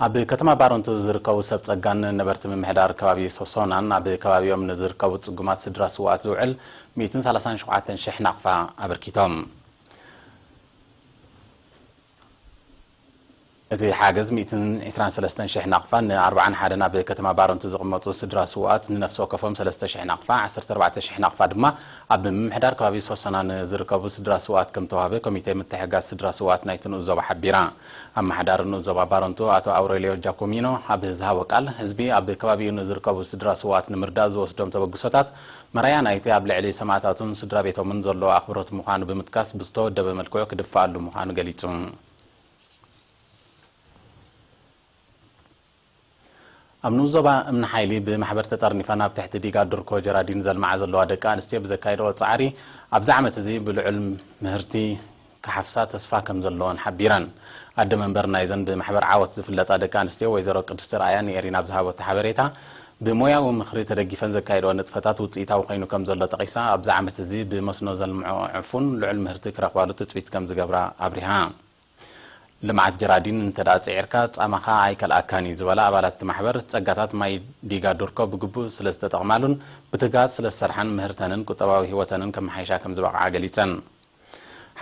ኣብ ከተማ ባረንቱ ዝርከቡ ሰብ ጸጋን ነበርቲ ምምሕዳር ከባቢ ሶሶናን ኣብ ከባቢኦም ንዝርከቡ ጽጉማት ስድራ ስውኣት ዝውዕል ሚእትን ሰላሳን ሸውዓተን ሽሕ ናቕፋ ኣበርኪቶም። እቲ ሓገዝ ሚእትን ዕስራን ሰለስተን ሽሕ ናቕፋ ንኣርባዓን ሓደን ኣብ ከተማ ባረንቱ ዝቕመጡ ስድራ ስውኣት ንነፍሲ ወከፎም ሰለስተ ሽሕ ናቕፋ፣ ዓሰርተ ኣርባዕተ ሽሕ ናቕፋ ድማ ኣብ ምምሕዳር ከባቢ ሶሶና ንዝርከቡ ስድራ ስውኣት ከም ተዋህበ ኮሚቴ ምትሕጋዝ ስድራ ስውኣት ናይቲ ንኡስ ዞባ ሓቢራ። ኣመሓዳሪ ንኡስ ዞባ ባረንቱ ኣቶ ኣውሬልዮ ጃኮሚኖ ኣብ ዝሃቦ ቃል፣ ህዝቢ ኣብ ከባቢኡ ንዝርከቡ ስድራ ስውኣት ንምርዳእ ዝወስዶም ተበግሶታት መርኣያ ናይቲ ኣብ ልዕሊ ሰማእታቱን ስድራ ቤቶምን ዘሎ ኣኽብሮት ምዃኑ ብምጥቃስ፣ ብዝተወደበ መልክዑ ክድፈኣሉ ምዃኑ ገሊጹ። ኣብ ንኡስ ዞባ እምኒ ሓይሊ ብማሕበር ተጠርኒፈን ኣብ ትሕቲ ዲጋ ዱርኮ ጀራዲን ዘልምዓ ዘለዋ ደቂ ኣንስትዮ ብዘካየድኦ ጻዕሪ፣ ኣብዚ ዓመት እዚ ብልዑል ምህርቲ ክሓፍሳ ተስፋ ከም ዘለወን ሓቢረን። ኣደ መንበር ናይዘን ብማሕበር ዓወት ዝፍለጣ ደቂ ኣንስትዮ ወይዘሮ ቅድስቲ ርኣያ ንኤሪና ኣብ ዝሃበቶ ሓበሬታ፣ ብሞያዊ ምኽሪ ተደጊፈን ዘካየድኦ ንጥፈታት ውጽኢታዊ ኮይኑ ከም ዘሎ ጠቒሳ፣ ኣብዚ ዓመት እዚ ብመስኖ ዘልምዖ ዕፉን ልዑል ምህርቲ ክረኽባሉ ትጽቢት ከም ዝገብራ ኣብሪሃ። ልምዓት ጀራዲን እንተ ደኣ ጽዒርካ ጻማኻ ኣይከልኣካን እዩ ዝበላ ኣባላት እቲ ማሕበር፣ ጸጋታት ማይ ዲጋ ዱርኮ ብግቡእ ስለ ዝተጠቕማሉን ብትግሃት ስለ ዝሰርሓን ምህርተንን ቁጠባዊ ህይወተንን ከመሓይሻ ከም ዝበቕዓ ገሊጸን።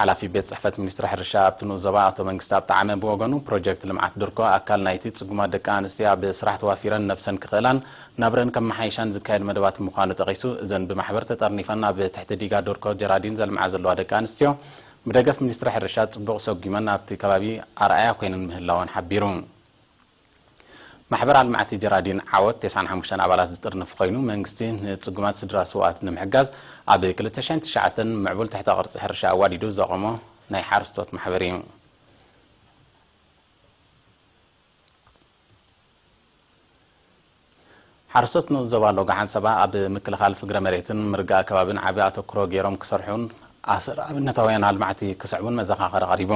ሓላፊ ቤት ጽሕፈት ሚኒስትሪ ሕርሻ ኣብቲ ንኡስ ዞባ ኣቶ መንግስተኣብ ጠዓመ ብወገኑ፣ ፕሮጀክት ልምዓት ዱርኮ ኣካል ናይቲ ጽጉማት ደቂ ኣንስትዮ ኣብ ስራሕ ተዋፊረን ነብሰን ክኽእላን ናብረን ከመሓይሻን ዝካየድ መደባት ምዃኑ ጠቒሱ፣ እዘን ብማሕበር ተጠርኒፈን ኣብ ትሕቲ ዲጋ ዱርኮ ጀራዲን ዘልምዓ ዘለዋ ደቂ ኣንስትዮ ብደገፍ ሚኒስትሪ ሕርሻ ጽቡቕ ሰጒመን ኣብቲ ከባቢ ኣርኣያ ኮይነን ምህላወን ሓቢሩ። ማሕበር ኣልማዕቲ ጀራዲን ዓወት ተስዓን ሓሙሽተን ኣባላት ዝጥርንፍ ኮይኑ፣ መንግስቲ ንጽጉማት ስድራ ስውኣት ንምሕጋዝ ኣብ ክልተ ሽሕን ትሽዓተን ምዕቡል ትሕተ ቅርጺ ሕርሻ ኣዋዲዱ ዘቖሞ ናይ ሓረስቶት ማሕበር እዩ። ሓረስቶት ንኡስ ዞባ ሎጋ ሓንሰባ ኣብ ምክልኻል ፍግረ መሬትን ምርጋእ ከባብን ዓቢ ኣተኩሮ ገይሮም ክሰርሑን ኣሰር ኣብነታውያን ኣልማዕቲ ክስዕቡን መዘኻኸሪ ቀሪቡ።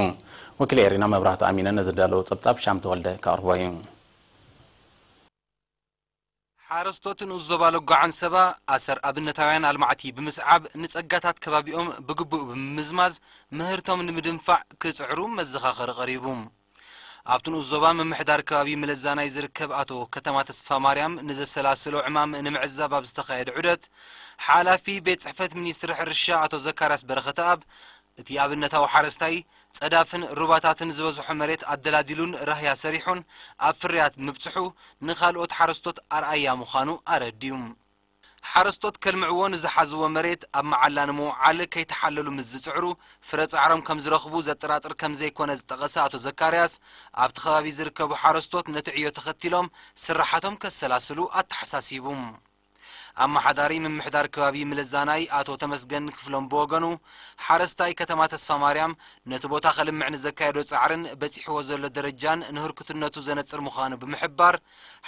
ወኪል ኤሪና መብራህቱ ኣሚነ ነዚ ዘዳለዎ ጸብጻብ ሻም ተወልደ ከቕርቦ እዩ። ሓረስቶት ንኡስ ዞባ ሎጋ ዓንሰባ ኣሰር ኣብነታውያን ኣልማዕቲ ብምስዓብ ንጸጋታት ከባቢኦም ብግቡእ ብምምዝማዝ ምህርቶም ንምድንፋዕ ክጽዕሩ መዘኻኸሪ ቀሪቡ። ኣብቲ ንኡስ ዞባ ምምሕዳር ከባቢ ምለዛናይ ዝርከብ ኣቶ ከተማ ተስፋ ማርያም ንዘሰላስሎ ዕማም ንምዕዛብ ኣብ ዝተኻየደ ዑደት፣ ሓላፊ ቤት ጽሕፈት ሚኒስትሪ ሕርሻ ኣቶ ዘካርያስ በረኸተኣብ፣ እቲ ኣብነታዊ ሓረስታይ ጸዳፍን ሩባታትን ዝበዝሖ መሬት ኣደላዲሉን ራህያ ሰሪሑን ኣብ ፍርያት ምብጽሑ ንኻልኦት ሓረስቶት ኣርኣያ ምዃኑ ኣረዲኡ። ሓረስቶት ከልምዕዎ ንዝሓዝዎ መሬት ኣብ መዓላ ንምውዓል ከይተሓለሉ ምስ ዝጽዕሩ፣ ፍረ ጻዕሮም ከም ዝረኽቡ ዘጠራጥር ከም ዘይኮነ ዝጠቐሰ ኣቶ ዘካርያስ፣ ኣብቲ ከባቢ ዝርከቡ ሓረስቶት ነቲ ዕዮ ተኸቲሎም ስራሓቶም ከሰላስሉ ኣተሓሳሲቡ። ኣመሓዳሪ ምምሕዳር ከባቢ ምለዛናይ ኣቶ ተመስገን ክፍሎም ብወገኑ፣ ሓረስታይ ከተማ ተስፋ ማርያም ነቲ ቦታ ከልምዕ ንዘካየዶ ጻዕርን በጺሕዎ ዘሎ ደረጃን ንህርኩትነቱ ዘነጽር ምዃኑ ብምሕባር፣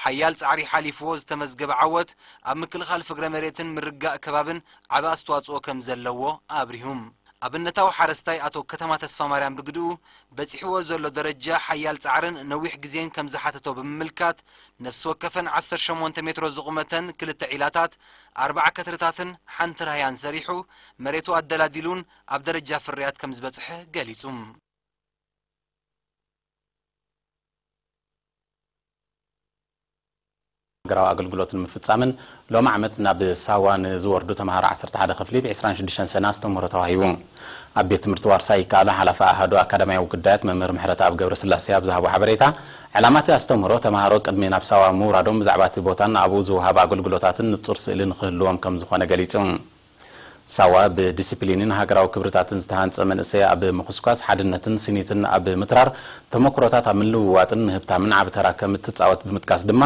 ሓያል ጻዕሪ ሓሊፍዎ ዝተመዝገበ ዓወት ኣብ ምክልኻል ፍግረ መሬትን ምርጋእ ከባብን ዓቢ ኣስተዋጽኦ ከም ዘለዎ ኣብሪሁ። ኣብነታዊ ሓረስታይ ኣቶ ከተማ ተስፋ ማርያም ብግድኡ፣ በጺሕዎ ዘሎ ደረጃ ሓያል ጻዕርን ነዊሕ ግዜን ከም ዝሓተቶ ብምምልካት፣ ነፍሲ ወከፈን ዓሰርተ ሸሞንተ ሜትሮ ዝቑመተን ክልተ ዒላታት፣ ኣርባዓ ከትርታትን ሓንቲ ራህያን ሰሪሑ፣ መሬቱ ኣደላዲሉን ኣብ ደረጃ ፍርያት ከም ዝበጽሐ ገሊጹ። ሃገራዊ ኣገልግሎት ንምፍጻምን ሎሚ ዓመት ናብ ሳዋ ንዝወርዱ ተምሃሮ ዓሰርተ ሓደ ክፍሊ ብ ዕስራን ሽዱሽተን ሰነ ኣስተምህሮ ተዋሂቡ። ኣብ ቤት ትምህርቲ ዋርሳይ ይከኣሎ ሓላፊ ኣሃዱ ኣካዳሚያዊ ጉዳያት መምህር ምሕረተኣብ ገብረስላሴ ኣብ ዝሃቦ ሓበሬታ፣ ዕላማ እቲ ኣስተምህሮ ተምሃሮ ቅድሚ ናብ ሳዋ ምውራዶም ብዛዕባ እቲ ቦታን ኣብኡ ዝወሃብ ኣገልግሎታትን ንጹር ስእሊ ንክህልዎም ከም ዝኾነ ገሊጹ። ሳዋ ብዲሲፕሊንን ሃገራዊ ክብርታትን ዝተሃንጸ መንእሰይ ኣብ ምኹስኳስ ሓድነትን ስኒትን ኣብ ምትራር ተመክሮታት ኣብ ምልውዋጥን ምህብታምን ዓቢ ተራ ከም እትጻወት ብምጥቃስ ድማ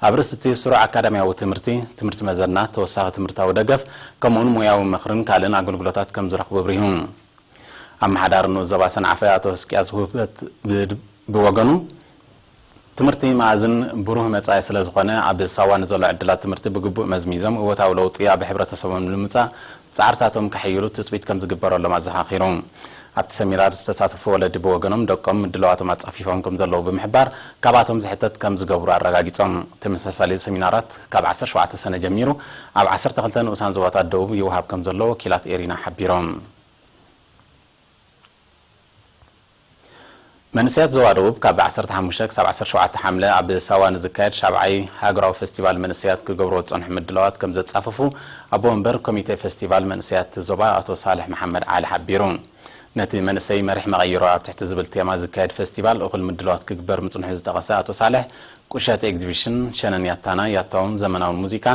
ኣብ ርእሲ እቲ ስሩዕ ኣካዳሚያዊ ትምህርቲ፣ ትምህርቲ መዘና፣ ተወሳኺ ትምህርታዊ ደገፍ ከምኡውን ሞያዊ ምኽርን ካልእን ኣገልግሎታት ከም ዝረኽቡ ኣብሪሁ። ኣመሓዳሪ ንኡስ ዞባ ሰንዓፈ ኣቶ ህዝቅያስ ውህበት ብ-፣ ብወገኑ፣ ትምህርቲ መኣዝን ብሩህ መጻኢ ስለ ዝኾነ፣ ኣብ ሳዋ ንዘሎ ዕድላት ትምህርቲ ብግቡእ መዝሚዞም እወታዊ ለውጢ ኣብ ሕብረተሰቦም ንምምጻእ ጻዕርታቶም ከሐይሉ ትጽቢት ከም ዝግበረሎም ኣዘኻኺሩ። ኣብቲ ሰሚናር ዝተሳተፉ ወለዲ ብወገኖም፣ ደቆም ምድላዋቶም ኣጻፊፎም ከም ዘለዉ ብምሕባር፣ ካብኣቶም ዝሕተት ከም ዝገብሩ ኣረጋጊጾም። ተመሳሳሊ ሰሚናራት ካብ ዓሰርተ ሸውዓተ ሰነ ጀሚሩ ኣብ ዓሰርተ ክልተ ንኡሳን ዞባታት ደቡብ ይወሃብ ከም ዘሎ ወኪላት ኤሪና ሓቢሮም። መንእሰያት ዞባ ደቡብ ካብ ዓሰርተ ሓሙሽተ ክሳብ ዓሰርተ ሸውዓተ ሓምለ ኣብ ሳዋ ንዝካየድ ሻብዓይ ሃገራዊ ፈስቲቫል መንእሰያት ክገብርዎ ዝጸንሑ ምድላዋት ከም ዘጻፈፉ ኣቦ ወንበር ኮሚቴ ፈስቲቫል መንእሰያት ዞባ ኣቶ ሳልሕ መሓመድ ዓሊ ሓቢሩ። ነቲ መንእሰይ መሪሕ መቐይሮ ኣብ ትሕቲ ዝብል ቴማ ዝካየድ ፈስቲቫል እኹል ምድላዋት ክግበር ምጽንሑ ዝጠቐሰ ኣቶ ሳልሕ፣ ቁሸት ኤግዚቢሽን፣ ሸነን ያታና ያታውን ዘመናውን ሙዚቃ፣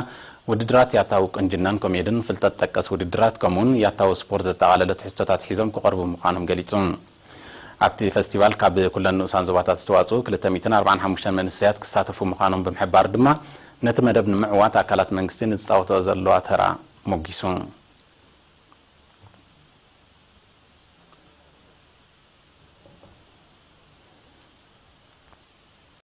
ውድድራት ያታዊ ቁንጅናን ኮሜድን፣ ፍልጠት ጠቀስ ውድድራት ከምኡውን ያታዊ ስፖርት ዘጠቓለለ ትሕዝቶታት ሒዞም ክቐርቡ ምዃኖም ገሊጹ። ኣብቲ ፈስቲቫል ካብ ኩለን ንኡሳን ዞባታት ዝተዋጽኡ ክልተ ሚእትን ኣርባዓን ሓሙሽተን መንእሰያት ክሳተፉ ምዃኖም ብምሕባር ድማ ነቲ መደብ ንምዕዋት ኣካላት መንግስቲ ንዝጻወትኦ ዘለዋ ተራ ሞጊሱ።